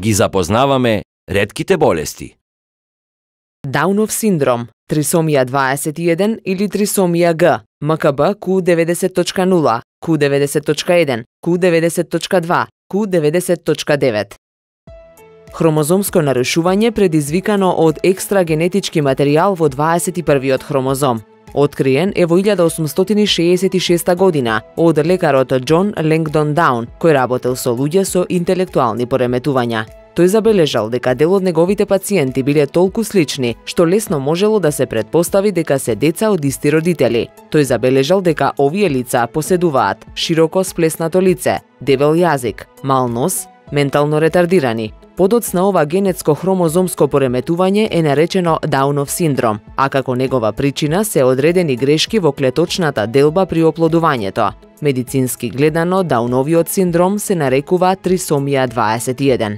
Ги запознаваме ретките болести. Даунов синдром, трисомија 21 или трисомија Г, МКБ Q90.0, Q90.1, Q90.2, Q90.9. Хромозомско нарушување предизвикано од екстра генетички материјал во 21-виот хромозом. Откриен е во 1866 година од лекарот Џон Ленгдон Даун, кој работел со луѓе со интелектуални пореметувања. Тој забележал дека дел од неговите пациенти биле толку слични, што лесно можело да се претпостави дека се деца од исти родители. Тој забележал дека овие лица поседуваат широко сплеснато лице, дебел јазик, мал нос, ментално ретардирани. Подоцна ова генетско хромозомско пореметување е наречено Даунов синдром, а како негова причина се одредени грешки во клеточната делба при оплодувањето. Медицински гледано, Дауновиот синдром се нарекува трисомија 21.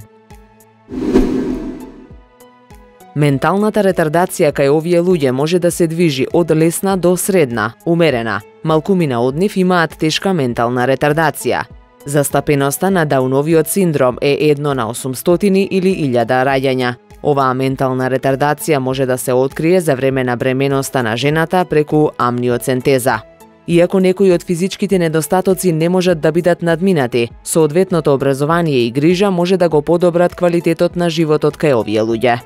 Менталната ретардација кај овие луѓе може да се движи од лесна до средна, умерена. Малкумина од нив имаат тешка ментална ретардација. Застапеноста на Дауновиот синдром е 1/800 или 1000 раѓања. Оваа ментална ретардација може да се открие за време на бременоста на жената преку амниоцентеза. Иако некои од физичките недостатоци не можат да бидат надминати, соодветното образование и грижа може да го подобрат квалитетот на животот кај овие луѓе.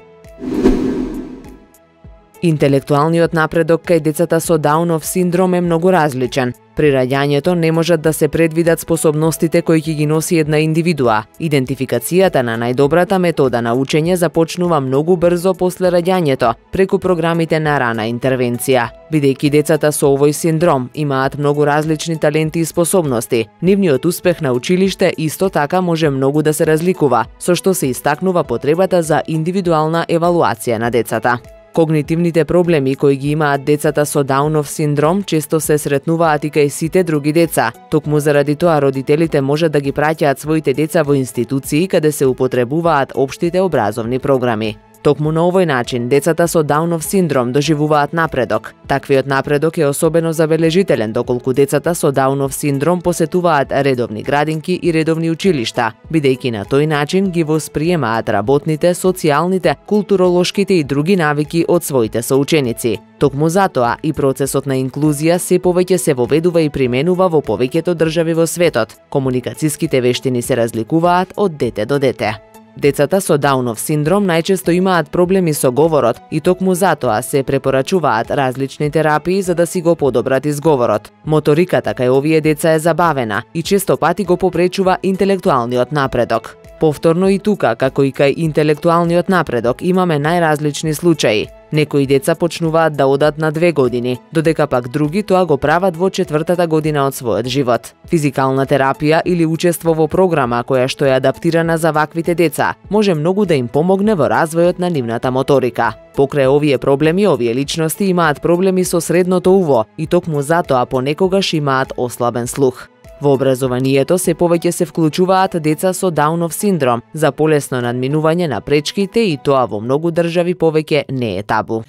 Интелектуалниот напредок кај децата со Даунов синдром е многу различен. При раѓањето не можат да се предвидат способностите кои ќе ги носи една индивидуа. Идентификацијата на најдобрата метода на учење започнува многу брзо после раѓањето, преку програмите на рана интервенција. Бидејќи децата со овој синдром имаат многу различни таленти и способности, нивниот успех на училиште исто така може многу да се разликува, со што се истакнува потребата за индивидуална евалуација на децата. Когнитивните проблеми кои ги имаат децата со Даунов синдром често се сретнуваат и кај сите други деца. Токму заради тоа родителите можат да ги праќаат своите деца во институции каде се употребуваат општите образовни програми. Токму на овој начин децата со Даунов синдром доживуваат напредок. Таквиот напредок е особено забележителен доколку децата со Даунов синдром посетуваат редовни градинки и редовни училишта, бидејќи на тој начин ги восприемаат работните, социјалните, културолошките и други навики од своите соученици. Токму затоа и процесот на инклузија се повеќе се воведува и применува во повеќето држави во светот. Комуникацијските вештини се разликуваат од дете до дете. Децата со Даунов синдром најчесто имаат проблеми со говорот и токму затоа се препорачуваат различни терапии за да си го подобрат изговорот. Моториката кај овие деца е забавена и често пати го попречува интелектуалниот напредок. Повторно и тука, како и кај интелектуалниот напредок, имаме најразлични случаи. Некои деца почнуваат да одат на 2 години, додека пак други тоа го прават во 4-та година од својот живот. Физикална терапија или учество во програма која што е адаптирана за ваквите деца може многу да им помогне во развојот на нивната моторика. Покрај овие проблеми, овие личности имаат проблеми со средното уво и токму затоа понекогаш имаат ослабен слух. Во образованието се повеќе се вклучуваат деца со Даунов синдром за полесно надминување на пречките и тоа во многу држави повеќе не е табу.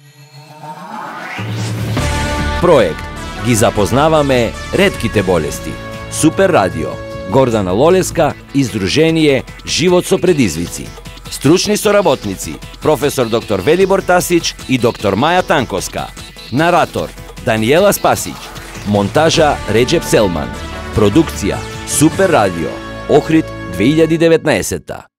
Проект Ги запознаваме ретките болести. Супер радио. Гордана Лолеска, издружение Живот со предизвици. Стручни соработници професор доктор Велибор Тасич и доктор Маја Танковска. Наратор Даниела Спасич. Монтажа Реджеп Селман. Продукција Супер радио. Охрид 2019.